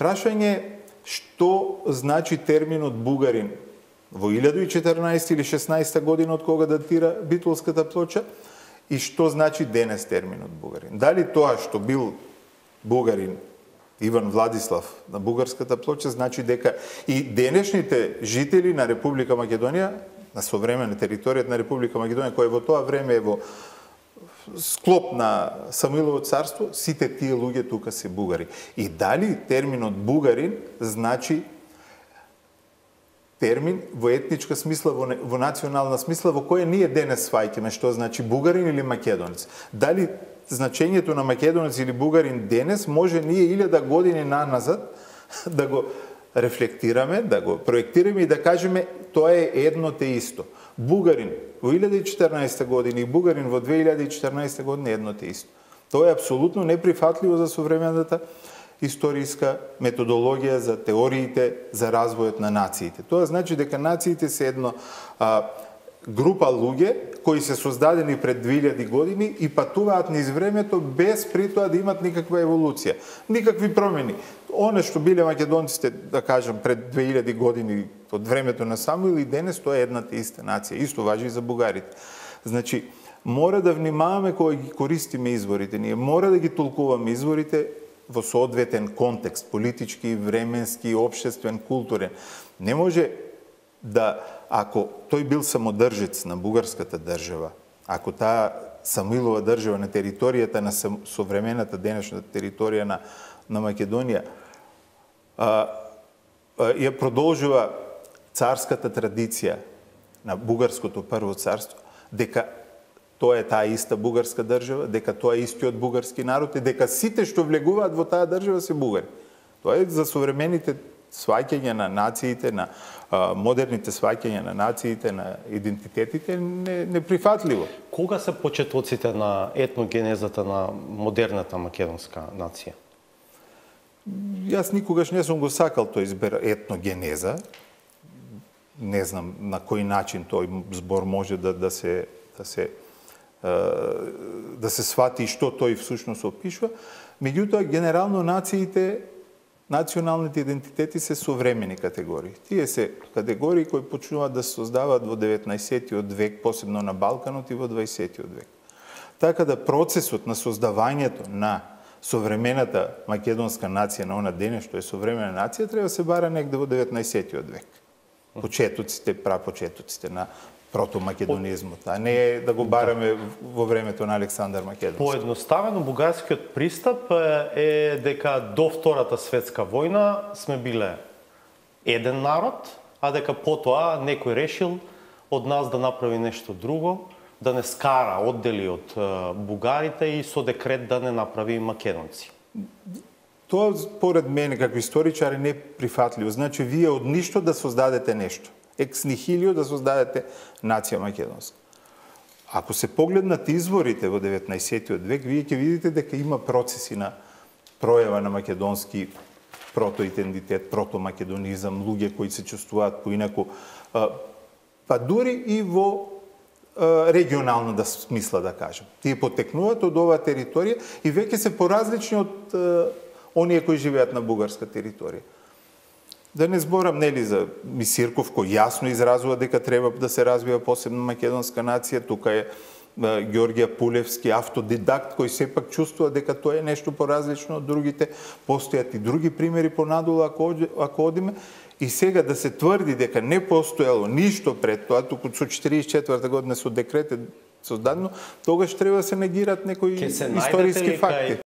Прашање што значи терминот бугарин во 1014 или 16 година од кога датира Битолската плоча и што значи денес терминот бугарин. Дали тоа што бил бугарин Иван Владислав на бугарската плоча значи дека и денешните жители на Република Македонија, на современа територијата на Република Македонија, која во тоа време е во склоп на Самуилово царство, сите тие луѓе тука се бугари. И дали терминот бугарин значи термин во етничка смисла, во национална смисла, во која ние денес сваќаме што значи бугарин или македонец. Дали значењето на македонец или бугарин денес може ние 1000 години наназад да го рефлектираме, да го проектираме и да кажеме тоа е едно те исто. Бугарин во 1014 година и бугарин во 2014 година е едно те исто. Тоа е апсолутно неприфатливо за современата историска методологија за теориите за развојот на нациите. Тоа значи дека нациите се едно група луѓе кои се создадени пред 2000 години и патуваат низ времето без при тоа да имат никаква еволуција, никакви промени. Оно што биле македонците, да кажам, пред 2000 години од времето на Самуил и денес, тоа е едната иста нација. Исто важи и за бугарите. Значи, мора да внимаваме кога ги користиме изворите. Ние мора да ги толкуваме изворите во соодветен контекст, политички, временски, општествен, културен. Не може да, ако тој бил самодржец на бугарската држава, ако таа Самуилова држава на територијата на современата денешната територија на Македонија ја продолжува царската традиција на бугарското прво царство, дека тоа е таа иста бугарска држава, дека тоа е истиот бугарски народ и дека сите што влегуваат во таа држава се бугари. Тоа е за современите сваќања на нациите, на модерните сваќања на нациите, на идентитетите, неприфатливо. Кога се почетоците на етногенезата на модерната македонска нација? Јас никогаш не сум го сакал тој збор етногенеза. Не знам на кој начин тој збор може да се свати што тој всушност опишува. Меѓутоа, генерално нациите, националните идентитети се современи категории. Тие се категории кои почнуваат да се создаваат во 19-тиот век, посебно на Балканот и во 20-тиот век. Така да процесот на создавањето на современата македонска нација на она дене што е современа нација треба да се бара негде во 19-тиот век. Почетоците, прапочетоците на протомакедонизмот, а не да го бараме во времето на Александар Македонски. Поедноставено, бугарскиот пристап е дека до Втората светска војна сме биле еден народ, а дека потоа некој решил од нас да направи нешто друго, да не скара, оддели од бугарите и со декрет да не направи македонци. Тоа, според мене, како историчар, е неприфатливо. Значи, вие од ништо да создадете нешто. Екс нихилио да создадете нација македонска. Ако се погледнат изворите во 19-тиот век, вие ќе видите дека има процеси на пројава на македонски протоидентитет, протомакедонизам, луѓе кои се чувствуваат поинаку, па дури и во регионално да смисла, да кажем. Тие потекнуваат од оваа територија и веќе се поразлични од оние кои живеат на бугарска територија. Да не зборам, нели, за Мисирков, кој јасно изразува дека треба да се развива посебна македонска нација. Тука е Ѓорѓе Пулевски, автодидакт, кој сепак чувствува дека тоа е нешто поразлично од другите. Постојат и други примери понадолу, ако одиме. И сега да се тврди дека не постоело ништо пред тоа, туку со 44 година со декрет е создадено, тогаш треба да се негираат некои историски факти.